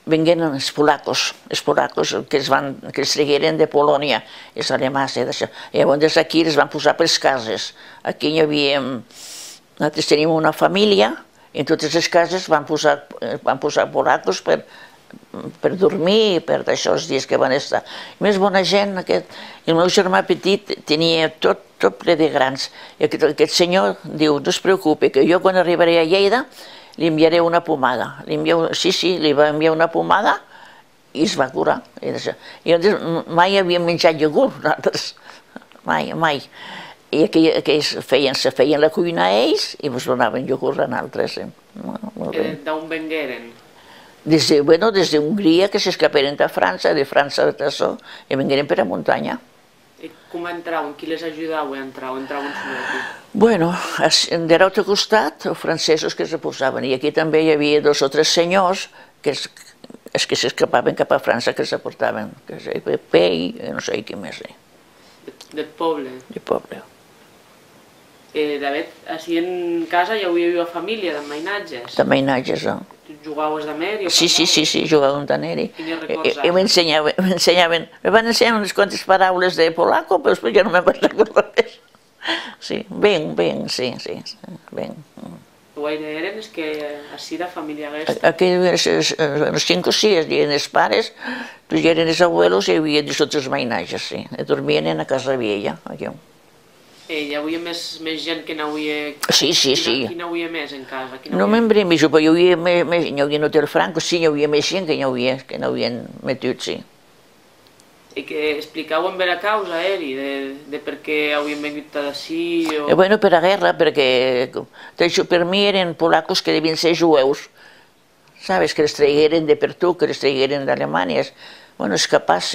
vengueren els polacos que els tragueren de Polònia, els alemanys, d'això. I llavors aquí els van posar per les cases. Aquí hi havia... Nosaltres tenim una família, i en totes les cases van posar polacos per dormir, per d'això els dies que van estar. Més bona gent, el meu germà petit tenia tot ple de grans. I aquest senyor diu, no es preocupi, que jo quan arribaré a Lleida li enviaré una pomada. Sí, li va enviar una pomada i es va curar. I mai havíem menjat iogurt, nosaltres. Mai. I aquells feien la cuina a ells i ens donaven iogurt a nosaltres. D'on vengueren? Des d'Hongria, que s'escaperen de França, de França d'això, i vengueren per a muntanya. I com entraven? Qui les ajudava a entrar? O entraven sols? Bueno, de l'altre costat, els francesos que es posaven, i aquí també hi havia 2 o 3 senyors que s'escapaven cap a França, que els portaven, que és Pepe i no sé qui més. Del poble? Del poble. David, així en casa ja havia família d'emmainatges? D'emmainatges, no? Jugaves d'amèri? Sí, jugàvem d'amèri. Quines records? Me van ensenyar unes quantes paraules de polaco, però després ja no me'n vaig recordar res. Sí, ben. Guaire eren els que així de família aquesta? Aquí els 5 o 6 eren els pares, ja eren els abuelos i hi havia els altres mainatges, sí. Dormien en la casa vella, aquí. Hi havia més gent que n'havia... Sí. Qui n'havia més en casa? No me'n bremixo, però hi havia en Hotel Franco, sí, hi havia més gent que n'havien metut, sí. I que explicàvem bé la causa, de per què havien vengut d'ací o... Bueno, per la guerra, perquè per mi eren polacos que devien ser jueus, sabes, que els traigueren de per tu, que els traigueren d'Alemanya. Bueno, és capaç,